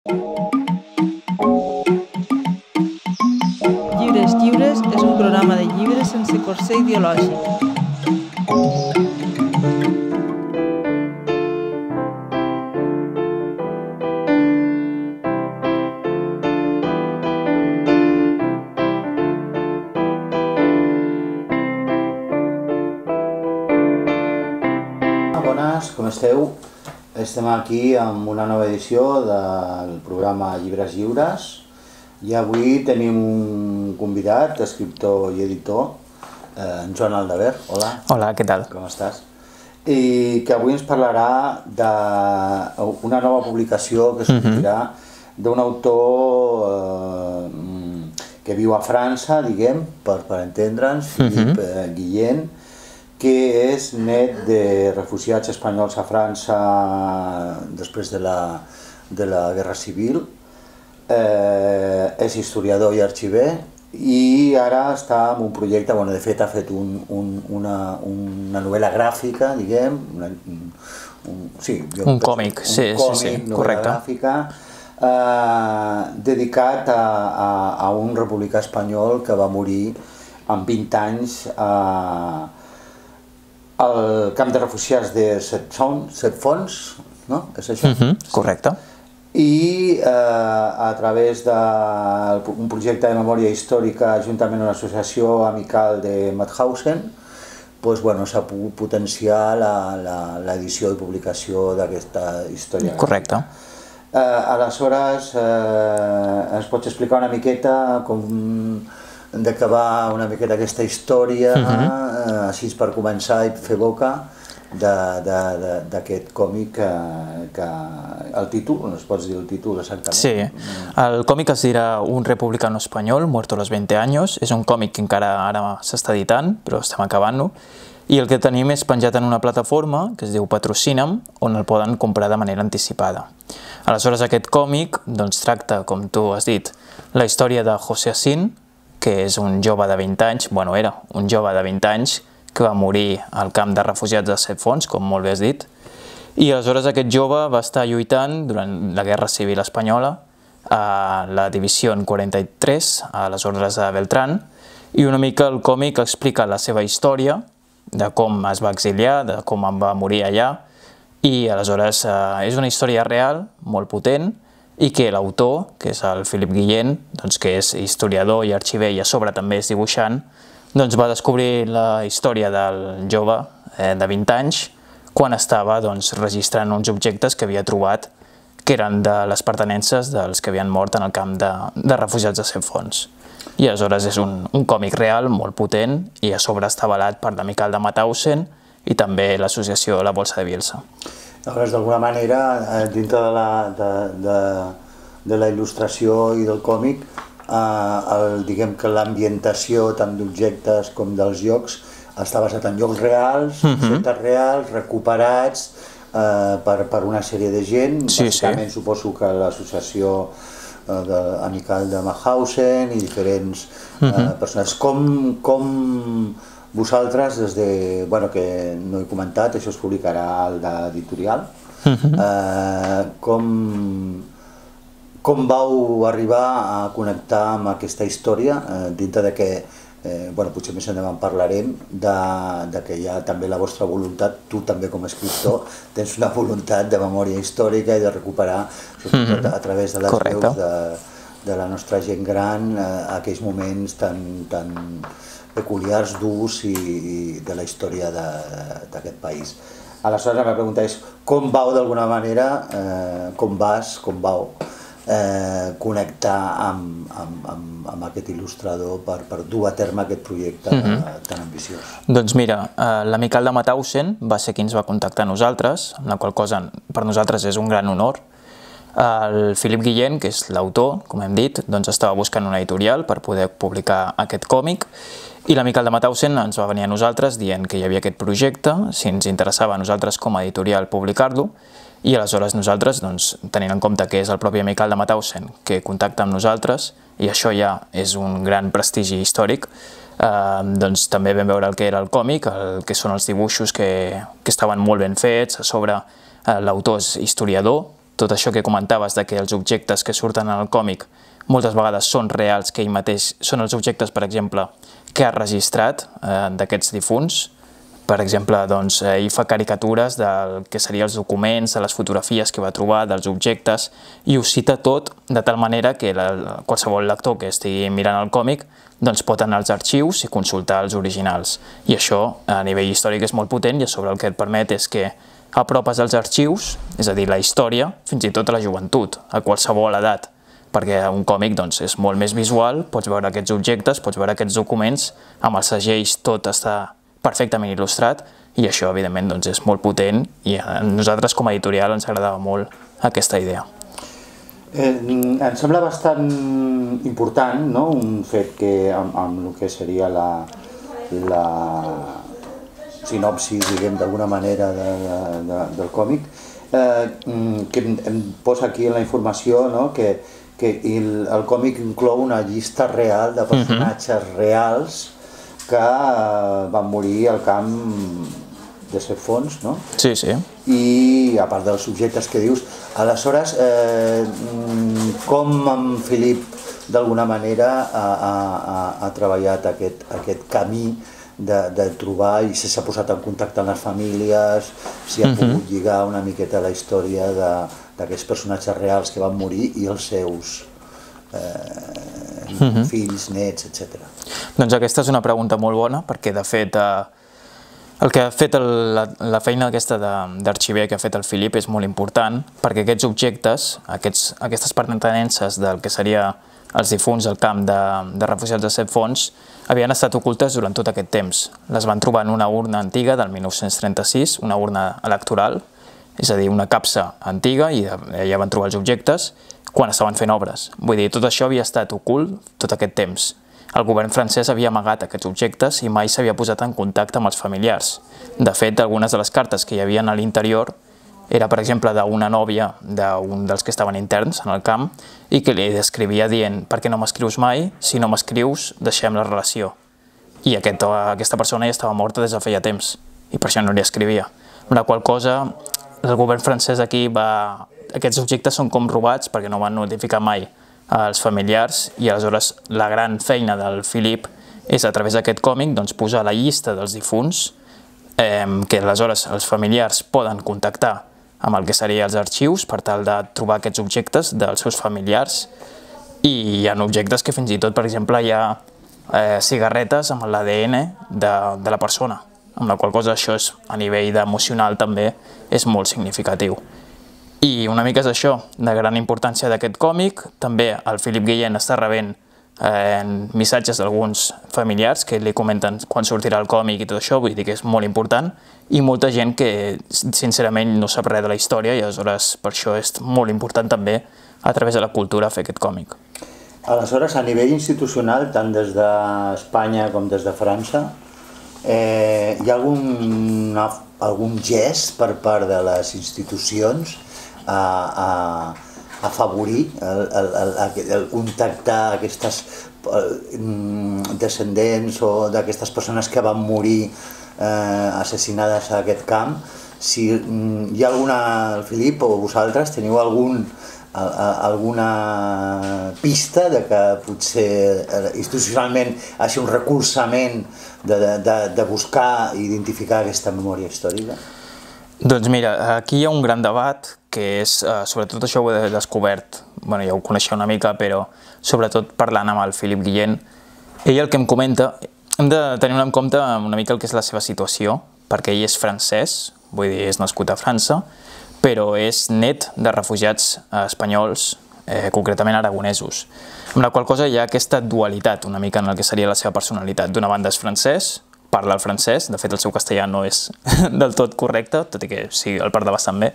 Llibres Lliures és un programa de llibres sense corser ideològic. Bones, com esteu? Estem aquí amb una nova edició del programa Llibres Lliures i avui tenim un convidat, escriptor i editor, en Joan Aldabert. Hola. Hola, què tal? Com estàs? I que avui ens parlarà d'una nova publicació que sortirà d'un autor que viu a França, diguem, per entendre'ns, Philippe Guillen, que és net de refugiats espanyols a França després de la Guerra Civil, és historiador i arxiver i ara està en un projecte, bueno, de fet ha fet una novel·la gràfica, diguem, un còmic, sí, novel·la gràfica, dedicat a un republicà espanyol que va morir amb 20 anys al camp de refugiats de Set Fonts, no? És això? Correcte. I a través d'un projecte de memòria històrica juntament amb una associació amical de Mauthausen, s'ha pogut potenciar l'edició i publicació d'aquesta història. Correcte. Aleshores, ens pots explicar una miqueta de què va una miqueta aquesta història, així per començar i fer boca d'aquest còmic que el títol, es pots dir el títol exactament? Sí, el còmic es dirà Un republicano espanyol, muerto a los 20 años, és un còmic que encara ara s'està editant, però estem acabant-lo, i el que tenim és penjat en una plataforma que es diu Patrocina'm, on el poden comprar de manera anticipada. Aleshores aquest còmic tracta, com tu has dit, la història de José Assin, que és un jove de 20 anys, bueno, era un jove de 20 anys que va morir al camp de refugiats de Set Fonts, com molt bé has dit, i aleshores aquest jove va estar lluitant durant la Guerra Civil Espanyola a la Divisió 43, a les ordres de Beltrán, i una mica el còmic explica la seva història, de com es va exiliar, de com en va morir allà, i aleshores és una història real, molt potent, i que l'autor, que és el Philippe Guillen, que és historiador i arxiver i a sobre també és dibuixant, va descobrir la història del jove de 20 anys quan estava registrant uns objectes que havia trobat que eren de les pertinences dels que havien mort en el camp de refugiats de Set Fonts. I aleshores és un còmic real, molt potent, i a sobre està avalat per l'amical de Mauthausen i també l'associació La Bolsa de Bielsa. Aleshores, d'alguna manera, dintre de la il·lustració i del còmic, diguem que l'ambientació tant d'objectes com dels llocs està basat en llocs reals, objectes reals, recuperats per una sèrie de gent, bàsicament suposo que l'associació amical de Mauthausen i diferents persones. Com vosaltres, des de, que no he comentat, això es publicarà al d'editorial, com vau arribar a connectar amb aquesta història, dintre de que, potser més endavant parlarem, que hi ha també la vostra voluntat, tu també com a escriptor, tens una voluntat de memòria històrica i de recuperar, sobretot a través de les veus de la nostra gent gran, aquells moments tan peculiars, durs i de la història d'aquest país. Aleshores la meva pregunta és, com vau d'alguna manera, com vau connectar amb aquest il·lustrador per dur a terme aquest projecte tan ambiciós? Doncs mira, l'amical de Mauthausen va ser qui ens va contactar a nosaltres, amb la qual cosa per nosaltres és un gran honor. El Philippe Guillen, que és l'autor, com hem dit, estava buscant una editorial per poder publicar aquest còmic i l'amical de Mauthausen ens va venir a nosaltres dient que hi havia aquest projecte, si ens interessava a nosaltres com a editorial publicar-lo, i aleshores nosaltres, tenint en compte que és el propi amical de Mauthausen que contacta amb nosaltres, i això ja és un gran prestigi històric, també vam veure el que era el còmic, el que són els dibuixos que estaven molt ben fets, a sobre l'autor és historiador, tot això que comentaves, de que els objectes que surten en el còmic moltes vegades són reals, que ell mateix són els objectes, per exemple, que ha registrat d'aquests difunts. Per exemple, ell fa caricatures del que serien els documents, de les fotografies que va trobar, dels objectes, i ho cita tot de tal manera que qualsevol lector que estigui mirant el còmic pot anar als arxius i consultar els originals. I això, a nivell històric, és molt potent, i a sobre el que et permet és que apropes als arxius, és a dir, la història, fins i tot a la joventut, a qualsevol edat, perquè un còmic és molt més visual, pots veure aquests objectes, pots veure aquests documents, amb els segells tot està perfectament il·lustrat, i això, evidentment, és molt potent, i a nosaltres com a editorial ens agradava molt aquesta idea. Em sembla bastant important un fet que amb el que seria la sinopsi, diguem, d'alguna manera del còmic, que em posa aquí en la informació que el còmic inclou una llista real de personatges reals que van morir al camp de Set Fonts, no? Sí, sí. I a part dels subjectes que dius, aleshores, com en Filip d'alguna manera ha treballat aquest camí de trobar, i si s'ha posat en contacte amb les famílies, si ha pogut lligar una miqueta la història d'aquests personatges reals que van morir i els seus fills, nets, etc. Doncs aquesta és una pregunta molt bona, perquè de fet el que ha fet la feina aquesta d'arxiver que ha fet el Filip és molt important, perquè aquests objectes, aquestes pertinences del que seria els difunts al camp de refugiats de Set Fonts, havien estat ocultes durant tot aquest temps. Les van trobar en una urna antiga del 1936, una urna electoral, és a dir, una capsa antiga, i allà van trobar els objectes quan estaven fent obres. Vull dir, tot això havia estat ocult tot aquest temps. El govern francès havia amagat aquests objectes i mai s'havia posat en contacte amb els familiars. De fet, algunes de les cartes que hi havia a l'interior era, per exemple, d'una nòvia d'un dels que estaven interns en el camp i que li escrivia dient: per què no m'escrius mai? Si no m'escrius, deixem la relació. I aquesta persona ja estava morta des de feia temps i per això no li escrivia. Amb la qual cosa, el govern francès aquí aquests objectes són com robats perquè no van notificar mai als familiars, i aleshores la gran feina del Filip és, a través d'aquest còmic, posar la llista dels difunts, que aleshores els familiars poden contactar amb el que serien els arxius per tal de trobar aquests objectes dels seus familiars. I hi ha objectes que fins i tot, per exemple, hi ha cigarretes amb l'ADN de la persona, amb la qual cosa això a nivell emocional també és molt significatiu. I una mica és això, de gran importància d'aquest còmic. També el Filip Guillén està rebent missatges d'alguns familiars que li comenten quan sortirà el còmic i tot això, vull dir que és molt important, i molta gent que sincerament no sap res de la història, i aleshores per això és molt important també a través de la cultura fer aquest còmic. Aleshores, a nivell institucional, tant des d'Espanya com des de França, hi ha algun gest per part de les institucions a afavorir el contactar aquestes descendents o d'aquestes persones que van morir assassinades a aquest camp? Si hi ha el Filip o vosaltres teniu alguna pista de que potser institucionalment hagi un recolzament de buscar i identificar aquesta memòria històrica? Doncs mira, aquí hi ha un gran debat que és, sobretot això ho he descobert, ja ho coneixia una mica, però sobretot parlant amb el Filip Guillén, ell el que em comenta, hem de tenir en compte una mica el que és la seva situació, perquè ell és francès, vull dir, és nascut a França, però és net de refugiats espanyols, concretament aragonesos, amb la qual cosa hi ha aquesta dualitat una mica en el que seria la seva personalitat. D'una banda és francès, parla el francès, de fet el seu castellà no és del tot correcte, tot i que sí, el parla bastant bé,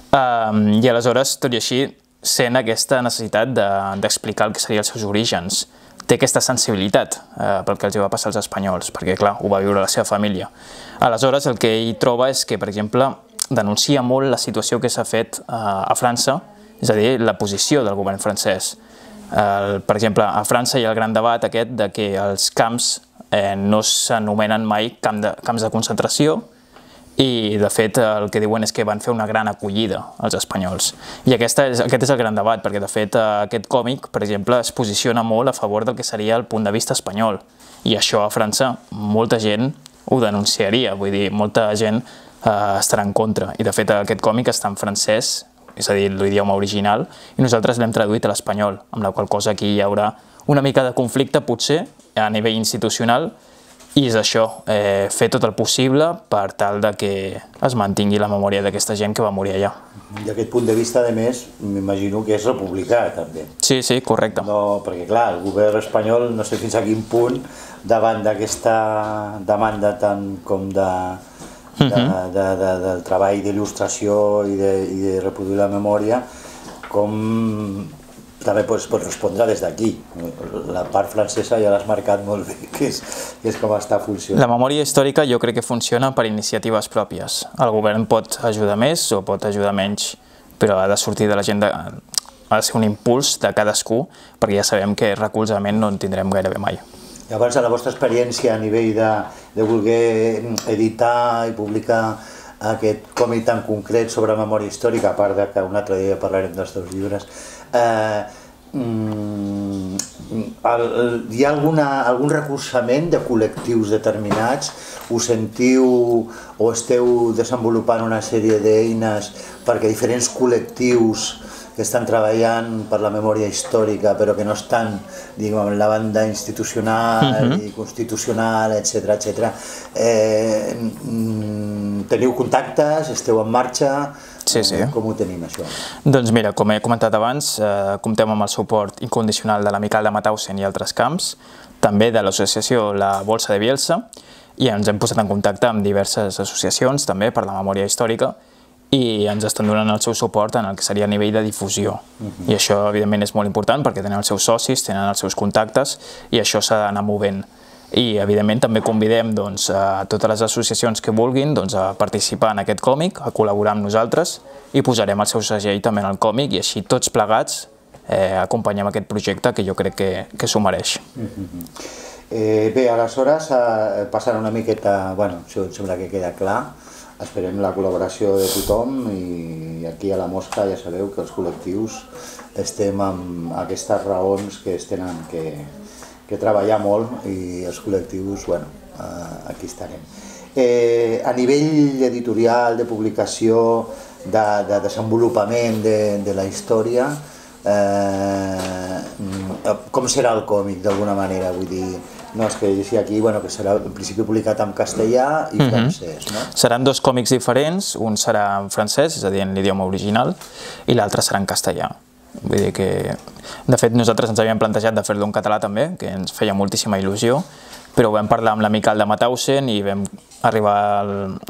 i aleshores, tot i així, sent aquesta necessitat d'explicar el que serien els seus orígens. Té aquesta sensibilitat pel que els va passar als espanyols, perquè clar, ho va viure la seva família. Aleshores, el que ell troba és que, per exemple, denuncia molt la situació que s'ha fet a França, és a dir, la posició del govern francès. Per exemple, a França hi ha el gran debat aquest de que els camps no s'anomenen mai camps de concentració i de fet el que diuen és que van fer una gran acollida als espanyols. I aquest és el gran debat, perquè de fet aquest còmic, per exemple, es posiciona molt a favor del que seria el punt de vista espanyol. I això a França molta gent ho denunciaria, vull dir, molta gent estarà en contra. I de fet aquest còmic està en francès, és a dir, l'idioma original, i nosaltres l'hem traduït a l'espanyol, amb la qual cosa aquí hi haurà una mica de conflicte potser a nivell institucional. I és això, fer tot el possible per tal de que es mantingui la memòria d'aquesta gent que va morir allà. I aquest punt de vista, a més, m'imagino que és republicà, també. Sí, sí, correcte. No, perquè, clar, el govern espanyol, no sé fins a quin punt, davant d'aquesta demanda tant com del treball d'il·lustració i de reproduir la memòria, com també pots respondre des d'aquí. La part francesa ja l'has marcat molt bé, que és com està funcionant. La memòria històrica jo crec que funciona per iniciatives pròpies. El govern pot ajudar més o pot ajudar menys, però ha de sortir de la gent, ha de ser un impuls de cadascú, perquè ja sabem que recolzament no en tindrem gairebé mai. Llavors, a la vostra experiència a nivell de voler editar i publicar aquest còmic tan concret sobre memòria històrica, a part que un altre dia parlarem dels teus llibres, hi ha algun recolzament de col·lectius determinats? Us sentiu o esteu desenvolupant una sèrie d'eines perquè diferents col·lectius que estan treballant per la memòria històrica però que no estan, diguem, en la banda institucional i constitucional, etc. Teniu contactes? Esteu en marxa? Sí, sí. Com ho tenim, això? Doncs mira, com he comentat abans, comptem amb el suport incondicional de l'Amical de Mauthausen i altres camps, també de l'associació La Bolsa de Bielsa, i ens hem posat en contacte amb diverses associacions també per la memòria històrica, i ens estan donant el seu suport en el que seria a nivell de difusió. I això, evidentment, és molt important perquè tenen els seus socis, tenen els seus contactes i això s'ha d'anar movent. I, evidentment, també convidem a totes les associacions que vulguin a participar en aquest còmic, a col·laborar amb nosaltres i posarem el seu segell també en el còmic i així tots plegats acompanyem aquest projecte que jo crec que s'ho mereix. Bé, aleshores, passant una miqueta, bueno, això em sembla que queda clar. Esperem la col·laboració de tothom i aquí a la Mosca ja sabeu que els col·lectius estem amb aquestes raons que es tenen que treballar molt i els col·lectius, bueno, aquí estarem. A nivell editorial, de publicació, de desenvolupament de la història, com serà el còmic d'alguna manera? Vull dir, no, és que llegia aquí que serà en principi publicat en castellà i francès, no? Seran dos còmics diferents, un serà en francès, és a dir, en l'idioma original, i l'altre serà en castellà. Vull dir que, de fet, nosaltres ens havíem plantejat de fer-lo en català també, que ens feia moltíssima il·lusió, però vam parlar amb l'Amical de Mauthausen i vam arribar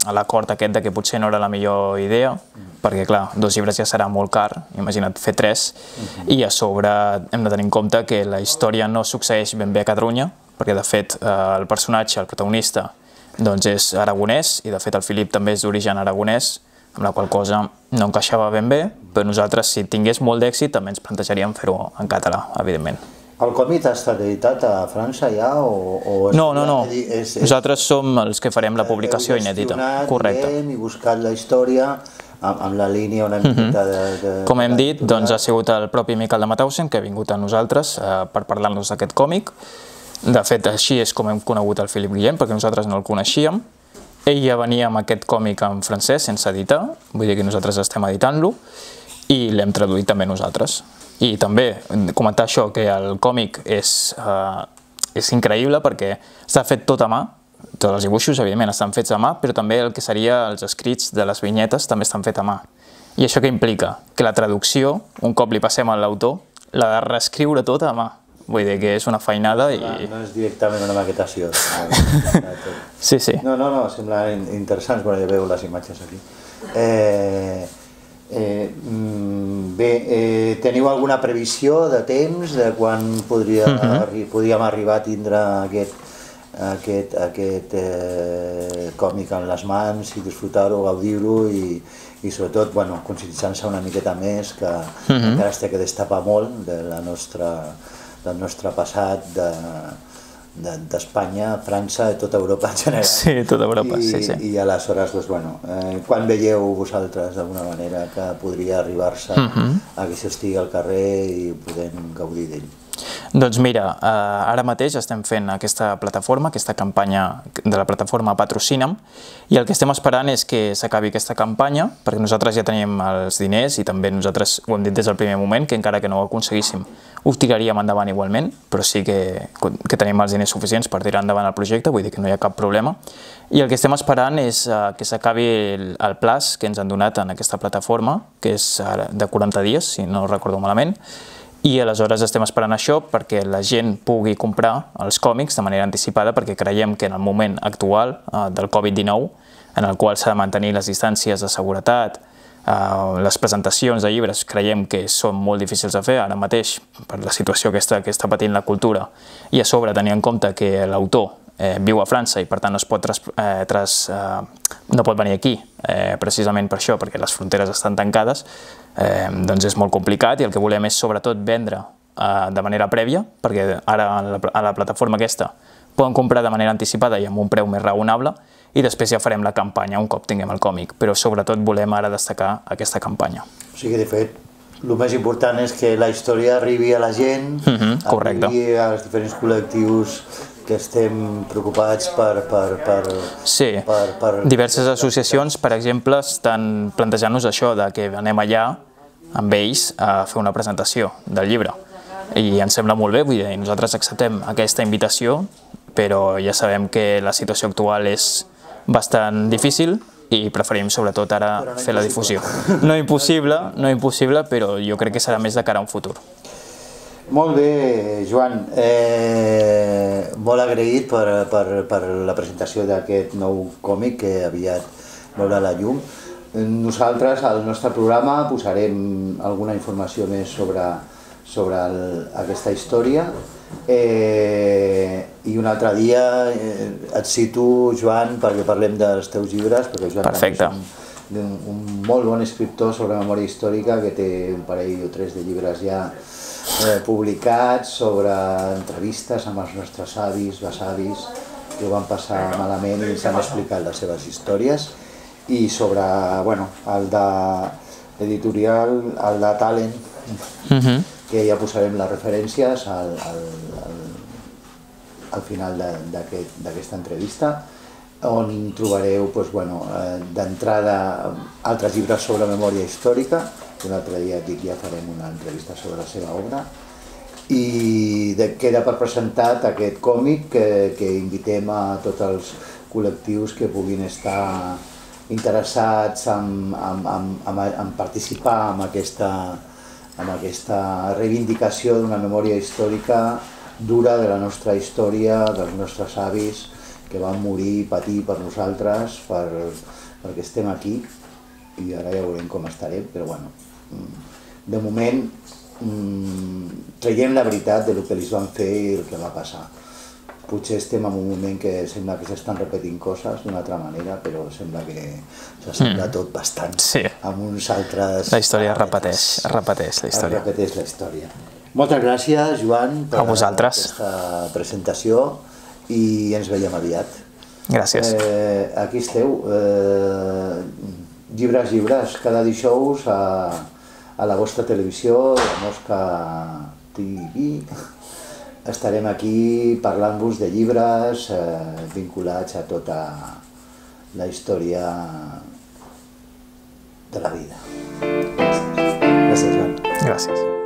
a l'acord aquest de que potser no era la millor idea, perquè, clar, 2 llibres ja serà molt car, imagina't fer 3, i a sobre hem de tenir en compte que la història no succeeix ben bé a Catalunya, perquè, de fet, el personatge, el protagonista, doncs és aragonès, i, de fet, el Filip també és d'origen aragonès, amb la qual cosa no encaixava ben bé, però nosaltres, si tingués molt d'èxit, també ens plantejaríem fer-ho en català, evidentment. El còmic ha estat editat a França ja? No. Nosaltres som els que farem la publicació inèdita. Correcte. I buscat la història amb la línia una miqueta de... Com hem dit, doncs ha sigut el propi Miquel de Mauthausen que ha vingut a nosaltres per parlar-nos d'aquest còmic. De fet, així és com hem conegut el Philippe Guillem, perquè nosaltres no el coneixíem. Ell ja venia amb aquest còmic en francès sense editar, vull dir que nosaltres estem editant-lo, i l'hem traduït també nosaltres. I també comentar això, que el còmic és increïble perquè està fet tot a mà, tots els dibuixos evidentment estan fets a mà, però també el que seria els escrits de les vinyetes també estan fets a mà. I això què implica? Que la traducció, un cop li passem a l'autor, l'ha de reescriure tot a mà. Vull dir que és una feinada i... No és directament una maquetació. Sí, sí. No, sembla interessant quan ja veu les imatges aquí. Bé, teniu alguna previsió de temps de quan podríem arribar a tindre aquest còmic en les mans i disfrutar-ho, gaudir-ho i sobretot conscienciar-se una miqueta més que encara es té que destapar molt del nostre passat d'Espanya, França, tota Europa en general. Sí, tota Europa, sí. I aleshores, doncs, bueno, quan veieu vosaltres d'alguna manera que podria arribar-se a que això estigui al carrer i podem gaudir d'ell? Doncs mira, ara mateix estem fent aquesta plataforma, aquesta campanya de la plataforma Patrocina'm, i el que estem esperant és que s'acabi aquesta campanya, perquè nosaltres ja tenim els diners i també nosaltres ho hem dit des del primer moment, que encara que no ho aconseguíssim, ho tiraríem endavant igualment, però sí que tenim els diners suficients per tirar endavant el projecte, vull dir que no hi ha cap problema. I el que estem esperant és que s'acabi el plaç que ens han donat en aquesta plataforma, que és de 40 dies, si no recordo malament, i aleshores estem esperant això perquè la gent pugui comprar els còmics de manera anticipada, perquè creiem que en el moment actual del Covid-19, en el qual s'ha de mantenir les distàncies de seguretat, les presentacions de llibres creiem que són molt difícils de fer ara mateix per la situació que està patint la cultura, i a sobre tenir en compte que l'autor viu a França i per tant no pot venir aquí precisament per això, perquè les fronteres estan tancades, doncs és molt complicat, i el que volem és sobretot vendre de manera prèvia, perquè ara a la plataforma aquesta poden comprar de manera anticipada i amb un preu més raonable, i després ja farem la campanya un cop tinguem el còmic, però sobretot volem ara destacar aquesta campanya. O sigui, de fet, el més important és que la història arribi a la gent, arribi als diferents col·lectius que estem preocupats per... Sí, diverses associacions, per exemple, estan plantejant-nos això, que anem allà amb ells a fer una presentació del llibre. I ens sembla molt bé, vull dir, nosaltres acceptem aquesta invitació, però ja sabem que la situació actual és bastant difícil i preferim sobretot ara fer la difusió. No impossible, però jo crec que serà més de cara a un futur. Molt bé, Joan. Molt agraït per la presentació d'aquest nou còmic que aviat veurà la llum. Nosaltres, al nostre programa, posarem alguna informació més sobre aquesta història, i un altre dia et cito, Joan, perquè parlem dels teus llibres, perquè Joan també és un molt bon escriptor sobre memòria històrica, que té un parell o tres de llibres ja publicats sobre entrevistes amb els nostres avis, besavis, que ho van passar malament i ens han explicat les seves històries, i sobre el d'editorial, el de Talent, que ja posarem les referències al final d'aquesta entrevista, on trobareu d'entrada altres llibres sobre memòria històrica, que un altre dia ja farem una entrevista sobre la seva obra, i queda per presentat aquest còmic que invitem a tots els col·lectius que puguin estar interessats en participar en aquesta reivindicació d'una memòria històrica dura de la nostra història, dels nostres avis que van morir i patir per nosaltres, perquè estem aquí, i ara ja veurem com estarem, però bueno, de moment traiem la veritat del que els van fer i el que va passar. Potser estem en un moment que sembla que s'estan repetint coses d'una altra manera, però sembla que s'assembla tot bastant amb uns altres... La història es repeteix la història. Es repeteix la història. Moltes gràcies, Joan, per aquesta presentació, i ens veiem aviat. Gràcies. Aquí esteu. Llibres, cada dijous a la vostra televisió, la Mosca TV. Estarem aquí parlant-vos de llibres vinculats a tota la història de la vida. Gràcies, Joan. Gràcies.